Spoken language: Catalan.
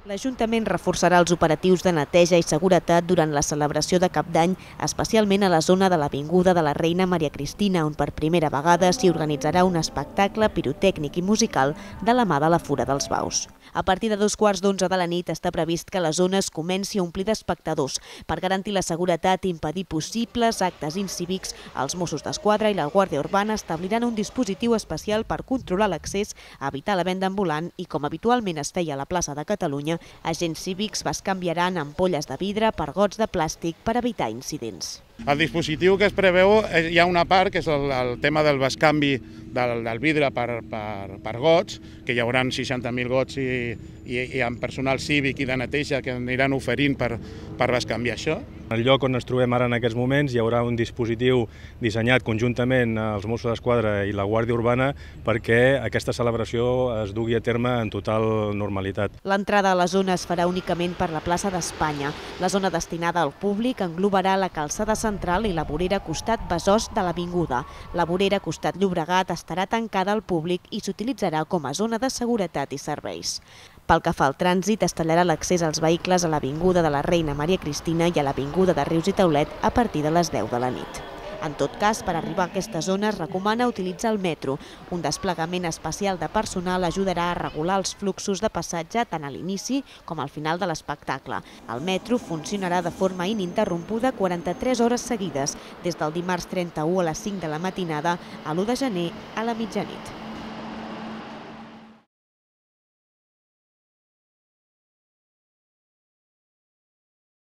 L'Ajuntament reforçarà els operatius de neteja i seguretat durant la celebració de Cap d'Any, especialment a la zona de l'Avinguda de la Reina Maria Cristina, on per primera vegada s'hi organitzarà un espectacle pirotècnic i musical de la mà de la Fura dels Baus. A partir de 11:15 de la nit està previst que la zona es comenci a omplir d'espectadors. Per garantir la seguretat i impedir possibles actes incívics, els Mossos d'Esquadra i la Guàrdia Urbana establiran un dispositiu especial per controlar l'accés, evitar la venda ambulant i, com habitualment es feia a la plaça de Catalunya, agents cívics bescanviaran ampolles de vidre per gots de plàstic per evitar incidents. El dispositiu que es preveu, hi ha una part que és el tema del bescanvi del vidre per gots, que hi haurà 60.000 gots i amb personal cívic i de neteja que aniran oferint per bescanviar això. En el lloc on ens trobem ara en aquests moments hi haurà un dispositiu dissenyat conjuntament als Mossos d'Esquadra i la Guàrdia Urbana perquè aquesta celebració es dugui a terme en total normalitat. L'entrada a la zona es farà únicament per la plaça d'Espanya. La zona destinada al públic englobarà la calçada central i la vorera costat Besòs de l'Avinguda. La vorera costat Llobregat estarà tancada al públic i s'utilitzarà com a zona de seguretat i serveis. Pel que fa al trànsit, es tallarà l'accés als vehicles a l'Avinguda de la Reina Maria Cristina i a l'Avinguda de Rius i Taulet a partir de les 10 de la nit. En tot cas, per arribar a aquesta zona es recomana utilitzar el metro. Un desplegament especial de personal ajudarà a regular els fluxos de passatge tant a l'inici com al final de l'espectacle. El metro funcionarà de forma ininterrompuda 43 hores seguides, des del dimarts 31 a les 5 de la matinada a l'1 de gener a la mitjanit.